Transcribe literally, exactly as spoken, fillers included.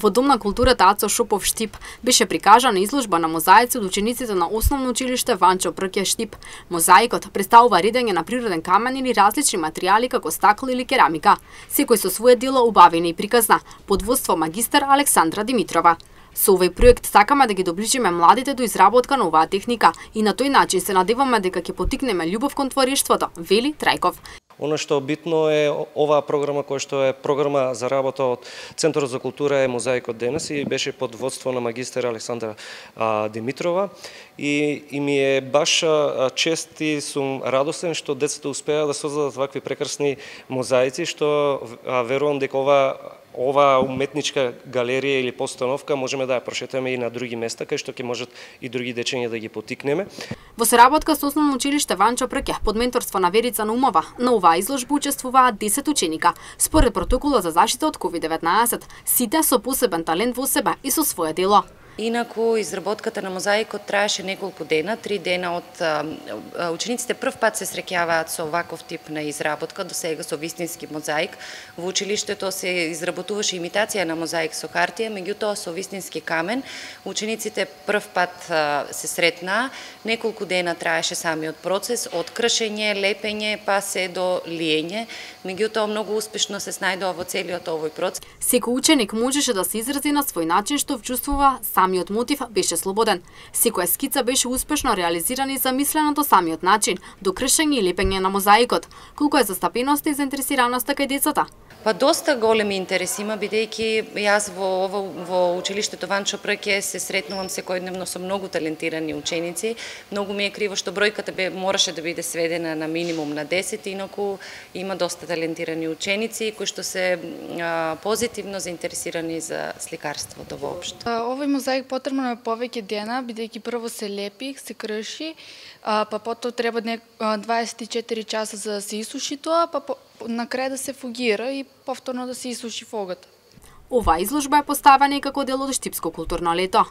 Во Дом на културата Ацо Шопов Штип беше прикажана изложба на мозаици од учениците на Основно училиште Ванчо Прке Штип. Мозаикот представува редење на природен камен или различни материјали како стакло или керамика, секој со свое дело убавено и приказна, под водство магистар Александра Димитрова. Со овој проект сакаме да ги доближиме младите до изработка на оваа техника и на тој начин се надеваме дека ќе поттикнеме љубов кон творештвото, вели Трајков. Оно што битно е оваа програма која што е програма за работа од Центарот за култура е Мозаикот денес и беше под водство на магистар Александра а, Димитрова и, и ми е баш а, чест и сум радосен што децата успеа да создадат вакви прекрасни мозаици што а, верувам дека ова Ова уметничка галерија или постановка можеме да ја прошетаме и на други места, кај што ќе можат и други дечиња да ги поттикнеме. Во соработка со Основно училиште Ванчо Прке, под менторство на Верица Наумова, на оваа изложба учествуваат десет ученика. Според протоколот за заштита од ковид деветнаесет, сите со посебен талент во себе и со свое дело. Инаку, изработката на мозаикот траеше неколку дена, три дена од а, учениците прв пат се среќаваат со ваков тип на изработка, до сега со вистински мозаик. Во училиштето се изработуваше имитација на мозаик со хартија, меѓутоа со вистински камен. Учениците прв пат а, се сретнаа, неколку дена траеше самиот процес, од кршење, лепење, па се до лиење. Меѓутоа многу успешно се снајдува во целиот овој процес. Секој ученик можеше да се изрази на свој начин што вчувствува. Самиот мотив беше слободен. Секоја скица беше успешно реализирана и замислена до самиот начин, до кршење и лепење на мозаикот. Колку е застапеноста и заинтересираноста кај децата? Па доста големи интерес има, бидејќи јас во во, во училиштето Ванчо Прке се сретнувам секојдневно со многу талентирани ученици. Многу ми е криво што бројката бе мораше да биде сведена на минимум на десет, инаку има доста талентирани ученици кои што се а, позитивно заинтересирани за сликарството воопшто. Овој мозаик потребно е повеќе дена, бидејќи прво се лепи, се крши, а, па потоа треба дваесет и четири часа за да се исуши тоа, па на крај да се фугира и повторно да се исуши фогата. Оваа изложба е поставена и како дел од Штипско културно лето.